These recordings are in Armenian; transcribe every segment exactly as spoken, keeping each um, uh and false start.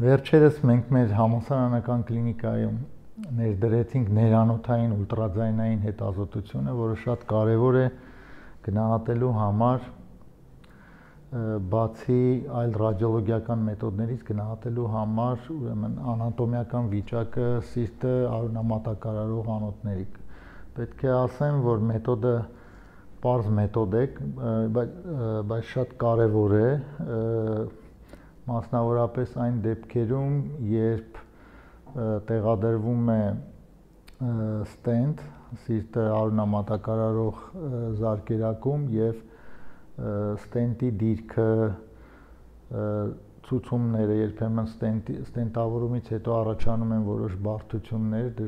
Վերջերս մենք մեր համալսարանական կլինիկայում ներդրեցինք ներանոթային ուլտրաձայնային հետազոտությունը, որը շատ կարևոր է գնահատելու համար, բացի այլ ռադիոլոգիական մեթոդներից գնահատելու համար, ուրեմն անատոմիական վիճակը սիրտը արյունամատակարարող անոթների։ Պետք է ասեմ, որ մեթոդը պարզ մեթոդ է, բայց շատ կարևոր է, մասնավորապես այն դեպքերում, երբ տեղադրվում է ստենտ, սիրտը արյունամատակարարող զարկերակում եւ ստենտի դիրքը ցուցումները երբեմն ստենտավորումից հետո առաջանում են որոշ բարդություններ,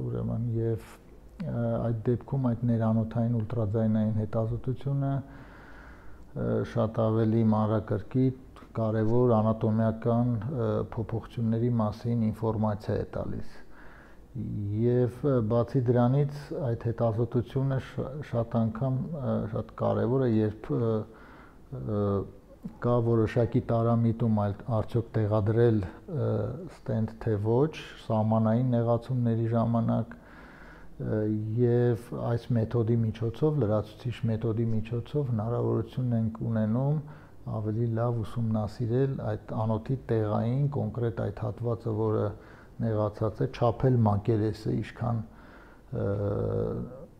ուրեմն եւ այդ դեպքում այդ ներանոթային ուլտրաձայնային հետազոտությունը շատ ավելի մանրակրկիտ, կարևոր անատոմիական փոփոխությունների մասին ինֆորմացիա է տալիս։ Եվ բացի դրանից այդ հետազոտությունը շատ անգամ շատ կարևոր է, երբ կա որոշակի տարամիտում արդյոք տեղադրել ստենտ թե ոչ, սահմանային նեղացումների ժամանակ եւ այս մեթոդի միջոցով, լրացուցիչ մեթոդի միջոցով հնարավորություն ենք ունենում ավելի լավ ուսումնասիրել այդ անոթի տեղային կոնկրետ այդ հատվածը, որը նեղացած է, չափել մակերեսը, ինչքան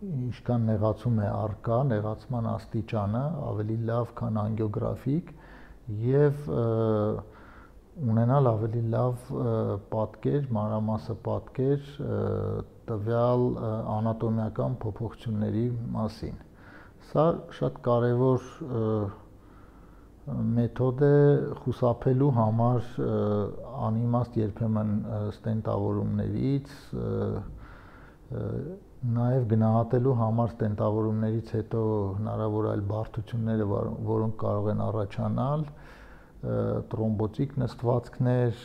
ինչքան նեղացում է առկա, նեղացման աստիճանը ավելի լավ, քան անգիոգրաֆիկ եւ ունենալ ավելի լավ պատկեր, մանրամասը պատկեր տվյալ անատոմիական փոփոխությունների մասին։ Սա շատ կարևոր մեթոդ է խուսափելու համար անիմաստ երբեմն ստենտավորումներից, նաև գնահատելու համար ստենտավորումներից հետո հնարավոր այլ բարդությունները, որոնք կարող են առաջանալ, տրոմբոցիկ նստվածքներ,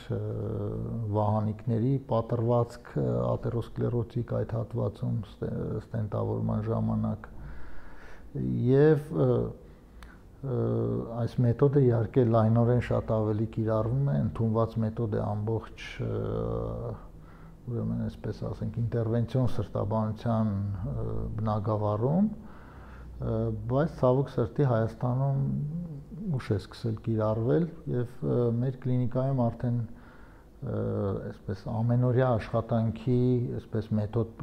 վահանիկների պատռվածք աթերոսկլերոտիկ այդ հատվածում ստենտավորման ժամանակ եւ այս մեթոդը իհարկե լայնորեն շատ ավելի կիրառվում է, ընդունված մեթոդ է ամբողջ ուրեմն այսպես ասենք ինտերվենցիոն սրտաբանության բնագավառում, բայց ցավոք սրտի Հայաստանում ուշ է սկսել կիրառվել եւ մեր կլինիկայում արդեն այսպես ամենօրյա աշխատանքի այսպես մեթոդ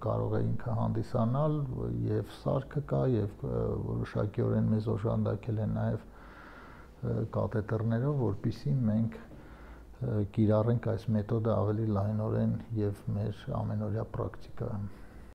կարող է ինքը հանդիսանալ եւ սարքը կա եւ որոշակիորեն մեզ օժանդակել են նաեւ կաթետրներով, որպեսզի մենք կիրառենք այս մեթոդը ավելի լայնորեն եւ մեր ամենօրյա պրակտիկայում։